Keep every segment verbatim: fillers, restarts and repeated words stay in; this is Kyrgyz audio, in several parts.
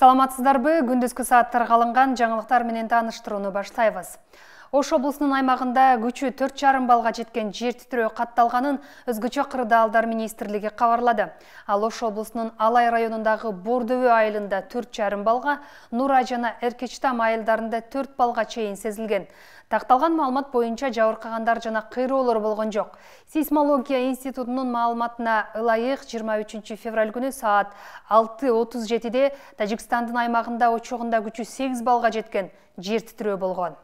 Саламатсыздарбы, күндүзгү сааттарга алынган жаңылыктар менен тааныштырууну баштайбыз. Ош облусунун аймагында күчү төрт жарым балга жеткен жер титирөө катталганын өзгөчө кырдаалдар министрлиги кабарлады. Ал Ош облусунун Алай районундагы Бордөбө айылында төрт жарым балга, Нура жана Эркечтам айылдарында төрт балга чейин сезилген. Такталган маалымат боюнча жабыркагандар жана кыйроолор болгон жок. Сейсмология институтунун маалыматына ылайык жыйырма үчүнчү февраль күнү саат алты отуз жетиде Тажикстандын аймагында очогунда күчү сегиз балга жеткен жер титирөө болгон.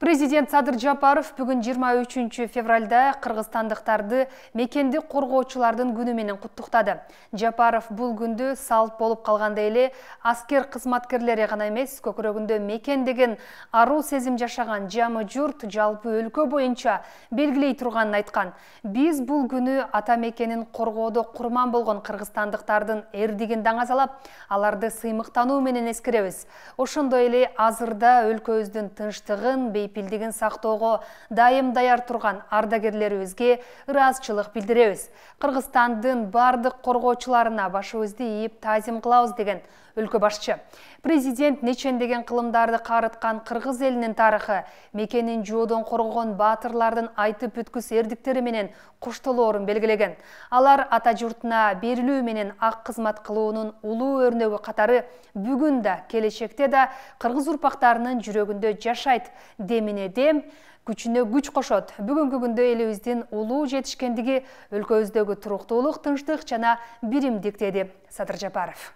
Президент Садыр Жапаров бүгүн жыйырма үчүнчү февралда кыргызстандыктарды мекенди коргоочулардын күнү менен куттуктады. Жапаров бул күндү салт болуп калгандай эле аскер кызматкерлери гана эмес, көкүрөгүндө мекен деген аруу сезим жашаган жамы журт жалпы өлкө боюнча белгилей турганын айткан. Биз бул күнү ата мекенин коргоодо курман болгон кыргызстандыктардын эрдигин даңазалап, аларды сыймыктануу менен эскеребиз. Ошондой эле азырда өлкөбүздүн тынчтыгын, бейпилдигин сактоого дайым даяр турган ардагерлерибизге ыраазычылык билдиребиз. Кыргызстандын бардык коргоочуларына башыбызды ийип таазим кылабыз деген өлкө башчы. Президент нечендеген кылымдарды карыткан кыргыз элинин тарыхы, мекенин жоодон коргогон баатырлардын айтып бүткүс эрдиктери менен коштолоорун белгилеген. Алар ата журтуна берилүү менен ак кызмат кылуунун улуу өрнөгү катары бүгүн да, келечекте да кыргыз урпактарынын жүрөгүндө жашайт. Демине дем, күчүнө күч кошот. Бүгүнкү күндө элибиздин улуу жетишкендиги өлкөбүздөгү туруктуулук, тынчтык жана биримдик, деди Садыр Жапаров.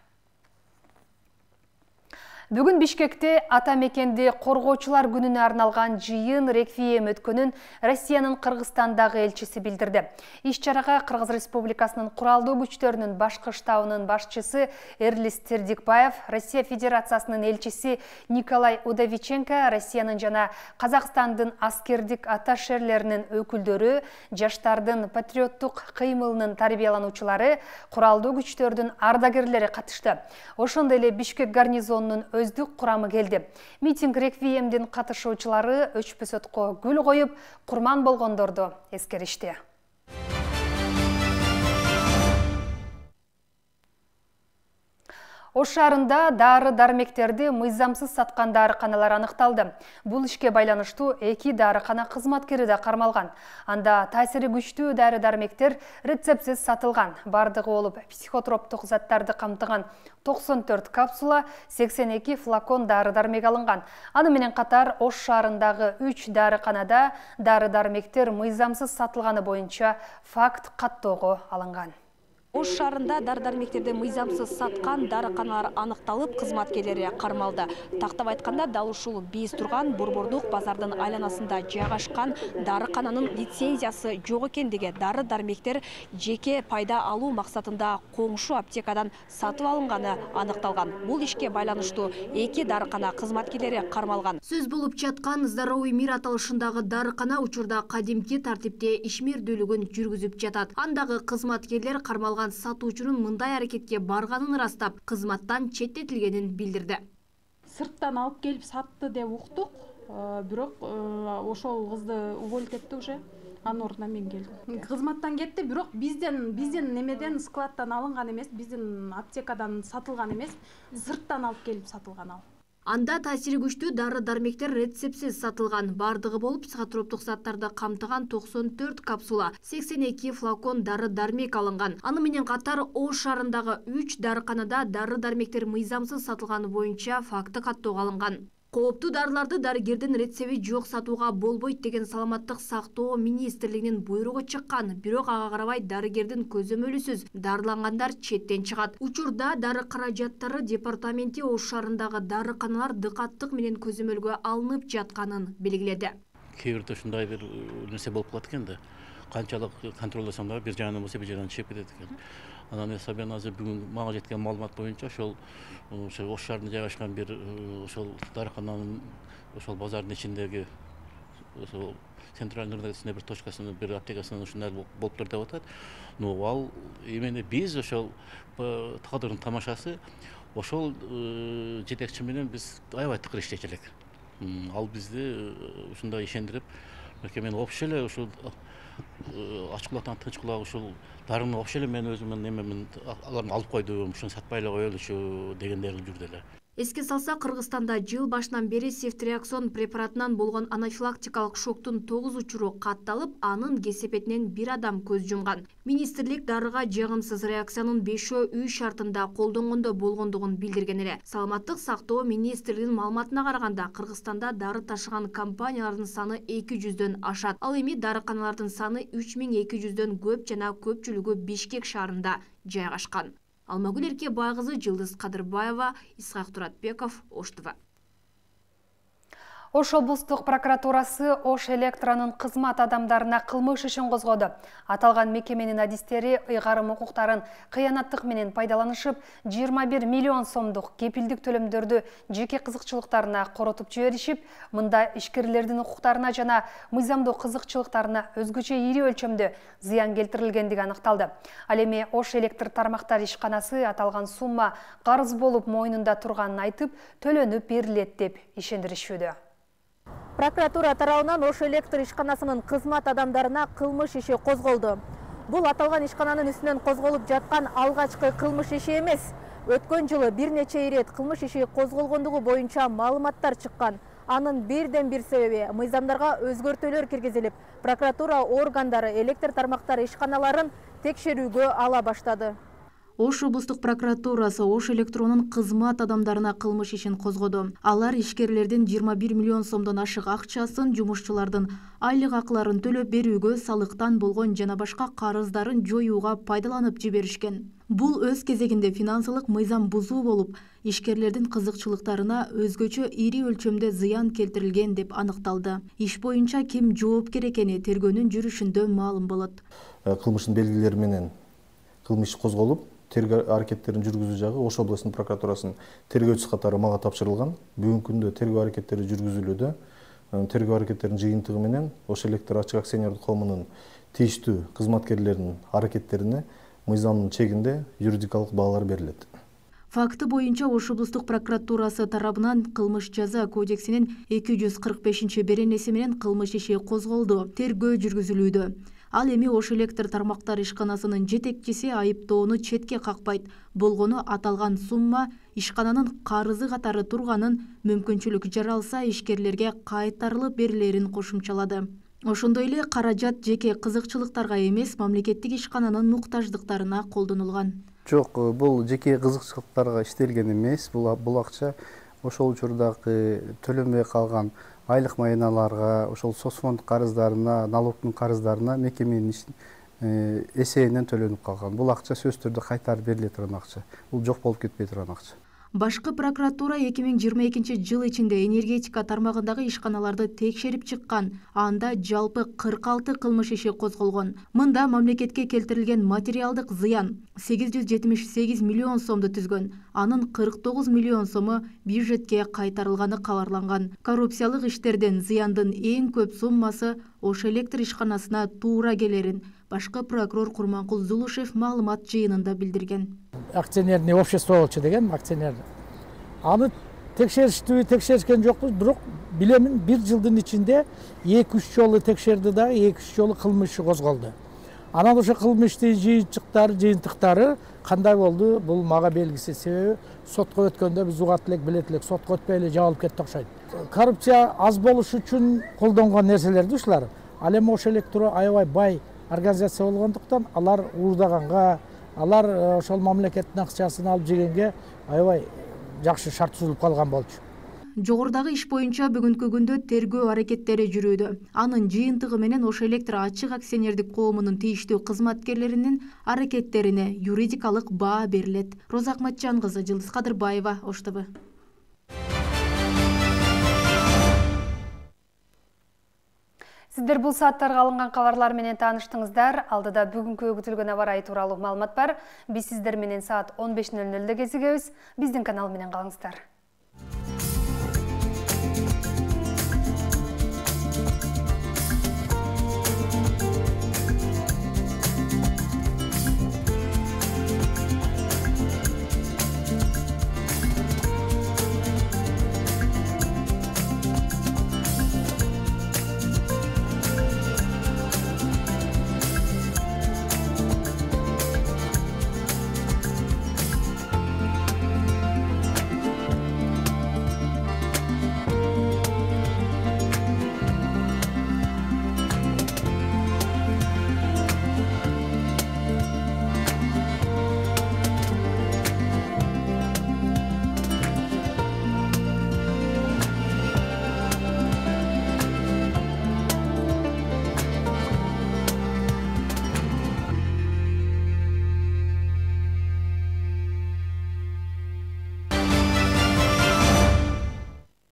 Бүгүн Бишкекте ата мекенди коргоочулар күнүнө арналган жыйын реквием өткөнүн Россиянын Кыргызстандагы элчиси билдирди. Иш-чарага Кыргыз Республикасынын куралдуу күчтөрүнүн башкы штабынын башчысы Эрлис Тердикбаев, Россия Федерациясынын элчиси Николай Удовиченко, Россиянын жана Казакстандын аскердик атташелеринин өкүлдөрү, жаштардын патриоттук кыймылынын тарбиялануучулары, куралдуу күчтөрдүн ардагерлери катышты. Ошондой эле Бишкек гарнизонунун өздүк курамы келди. Митинг реквиемдин катышуучулары өчпөсөткө гүл коюп, курман болгондорду эскеришти. Ош шаарында дары-дармектерди мыйзамсыз саткан дарыканалар аныкталды. Бул ишке байланыштуу эки дарыкана кызматкери да кармалган. Анда таасири күчтүү дары-дармектер рецептсиз сатылган. Бардыгы болуп психотроптук заттарды камтыган токсон төрт капсула, сексен эки флакон дары-дармек алынган. Аны менен катар Ош шаарындагы үч дарыканада дары-дармектер мыйзамсыз сатылганы боюнча факт каттоого алынган. Ош шаарында дары-дармектерди мыйзамсыз саткан дарыканалар аныкталып, кызматкерлери кармалды. Тактап айтканда, дал ушул биз турган Борбордук базардын айланасында жайгашкан дарыкананын лицензиясы жок экендиги, дары-дармектер жеке пайда алуу максатында коңшу аптекадан сатып алынганы аныкталган. Бул ишке байланыштуу эки дарыкана кызматкерлери кармалган. Сөз болуп жаткан Здоровый мир аталышындагы дарыкана учурда кадимки тартипте ишмердүүлүгүн жүргүзүп жатат. Андагы кызматкерлер кармалган сатуучунун мындай аракетке барганын ырастап, кызматтан четтетилгенин билдирди. Сырттан алып келип сатты деп уктук, бирок ошол кызды уволить этти уже. Анын ордуна мен келдим. Кызматтан кетти, бирок бизден биздин немеден складтан алынган эмес, биздин аптекадан сатылган эмес, сырттан алып келип сатылган ал. Анда таасири күчтүү дары-дармектер рецептсиз сатылган. Бардыгы болуп психотроптук заттарды камтыган токсон төрт капсула, сексен эки флакон дары-дармек алынган. Аны менен катар Ош шаарындагы үч дарыканада дары-дармектер мыйзамсыз сатылганы боюнча факты каттоого алынган. Кооптуу дарыларды дарыгердин рецепти жок сатууга болбойт деген саламаттык сактоо министрлигинин буйругу чыккан. Бирок ага карабай дарыгердин көзөмөлүсүз дарылангандар четтен чыгат. Учурда дары каражаттары департаменти Ош шаарындагы дарыканалар дыкаттык менен көзөмөлгө алынып жатканын белгиледи. Кээ бирде ушундай бир нерсе болуп калат экен да. Канчалык контролдосоң да бир жагынан болсо бир жагынан чыгып кетет экен. Анан эсабен азыр бүгүн мага жеткен маалымат боюнча ошол ошол Ош шаарында жайгашкан бир ошол дарыкананын ошол базардын ичиндеги ошол центральный рынокчунда бир точкасында бир аптекасында ушундай болуптур деп атат. Но ал именно биз ошол тагдырдын тамашасы ошол жетекчи менен биз аябай тыкыр иштечү элек. Ал бизди ушундай ишендирип, мекемени общий эле ушул ачык кулактан тынч кулак ушул дарыны вообще эле мен өзүмдүн немемин аларды алып койдум, ушуну сатпай эле коелучу дегендер жүрдү эле. Эске салса, Кыргызстанда жыл башынан бери сефтриаксон препаратынан болгон анафилактикалык шоктун тогуз учуру катталып, анын кесепетинен бир адам көз жумган. Министрлик дарыга жагымсыз реакциянын бешөө үй шартында колдонгондо болгондугун билдирген эле. Саламаттык сактоо министрлигинин маалыматына караганда, Кыргызстанда дары ташыган компаниялардын саны эки жүздөн ашат. Ал эми дарыканалардын саны үч миң эки жүздөн көп жана көпчүлүгү Бишкек шаарында жайгашкан. Алмагүл Эркебайкызы, Жылдыз Кадырбаева, Исхак Туратбеков, Ош ТВ. Ош облустук прокуратурасы Ош электронун кызмат адамдарына кылмыш ишин козгоду. Аталган мекеменин адистери ыйгарым укуктарын кыянаттык менен пайдаланышып, жыйырма бир миллион сомдук кепилдик төлөмдөрдү жеке кызыкчылыктарына коротуп жиберишип, мында ишкерлердин укуктарына жана мыйзамдуу кызыкчылыктарына өзгөчө ири өлчөмдө зыян келтирилгендиги аныкталды. Ал эми Ош электр тармактар ишканасы аталган сумма карыз болуп мойнунда турганын айтып, төлөнүп берилет деп ишендиришүүдө. Прокуратура тарабынан Ош электр ишканасынын кызмат адамдарына кылмыш иши козголду. Бул аталган ишкананын үстүнөн козголуп жаткан алгачкы кылмыш иши эмес. Өткөн жылы бир нече ирет кылмыш иши козголгондугу боюнча маалыматтар чыккан. Анын бирден бир себеби мыйзамдарга өзгөртүүлөр киргизилип, прокуратура органдары электр тармактары ишканаларын текшерүүгө ала баштады. Ош облустук прокуратурасы Ош электронун кызмат адамдарына кылмыш ишин козгоду. Алар ишкерлердин жыйырма бир миллион сомдон ашык акчасын жумушчулардын айлык акыларын төлөп берүүгө, салыктан болгон жана башка карыздарын жоюуга пайдаланып жиберишкен. Бул өз кезегинде финансылык мыйзам бузуу болуп, ишкерлердин кызыкчылыктарына өзгөчө ири өлчөмдө зыян келтирилген деп аныкталды. Иш боюнча ким жоопкер экени тергөөнүн жүрүшүндө маалым болот. Кылмыштын белгилери менен кылмыш козголуп, тергөө аракеттерин жүргүзүү жагы Ош областынын прокуратурасынын тергөөчүсү катары мага тапшырылган. Бүгүнкү күндө тергөө аракеттери жүргүзүлүүдө. Тергөө аракеттеринин жыйынтыгы менен Ош электр ачык акционердик коомунун тийиштүү кызматкерлеринин аракеттерине мыйзамдын чегинде юридикалык баалар берилет. Факты боюнча Ош облустук прокуратурасы тарабынан кылмыш жаза кодексинин эки жүз кырк бешинчи беренеси менен кылмыш иши козголду. Тергөө жүргүзүлүүдө. Ал эми Ош электр тармактар ишканасынын жетекчиси айыптоону четке какпайт. Болгону аталган сумма ишкананын карызы катары турганын, мүмкүнчүлүк жаралса ишкерлерге кайтарылып берилерин кошумчалады. Ошондой эле каражат жеке кызыкчылыктарга эмес, мамлекеттик ишкананын муктаждыктарына колдонулган. Жок, бул жеке кызыкчылыктарга иштелген эмес. Бул бул акча ошол учурдагы төлөнбөй калган айлык майналарга, ошол соцфонд карыздарына, налогтун карыздарына мекеменин эсебинен төлөнүп калган. Бул акча сөзсүз түрдө кайтарып бериле турган акча. Бул жок болуп кетпей турган акча. Башкы прокуратура эки миң жыйырма экинчи жыл ичинде энергетика тармагындагы ишканаларды текшерип чыккан. Анда жалпы кырк алты кылмыш иши козголгон. Мында мамлекетке келтирилген материалдык зыян сегиз жүз жетимиш сегиз миллион сомду түзгөн. Анын кырк тогуз миллион сому бюджетке кайтарылганы кабарланган. Коррупциялык иштерден зыяндын эң көп суммасы Ош электр ишканасына туура келерин башкы прокурор Курманкул Зулушев маалымат жыйынында билдирген. Акционерное общество болчу деген акционер. Аны текшериштүү, текшеришкен жокпуз, бирок билемин бир жылдын ичинде эки үч жолу текшерди да, эки үч жолу кылмыш козголду. Анан ошо кылмыштын жыйынтыктары, жыйынтыктары кандай болду? Бул мага белгисиз. Себеби сотко өткөндө биз угат элек, билет элек, сотко өтпөй эле жабылып кетти окшойт. Коррупция аз болуш үчүн колдонгон нерселерди ушулар. Ал эми Ош электро аябай бай организация болгондуктан алар уурдаганга, алар ошол мамлекеттин акчасын алып жегенге аябай жакшы шарт түзүлүп калган болчу. Жогорудагы иш боюнча бүгүнкү күндө тергөө аракеттери жүрүүдө. Анын жыйынтыгы менен Ош электр ачык акционердик коомунун тийиштүү кызматкерлеринин аракеттерине юридикалык баа берилет. Роза Акматжан кызы, Жылдыз Кадырбаева, Ош ТВ. Сиздер бул сааттарга алынган кабарлар менен тааныштыңыздар. Алдыда бүгүнкү күтүлгөн аба ырайы тууралуу маалымат бар. Биз сиздер менен саат он беш нөл нөлдө кезигебиз. Биздин канал менен калыңыздар.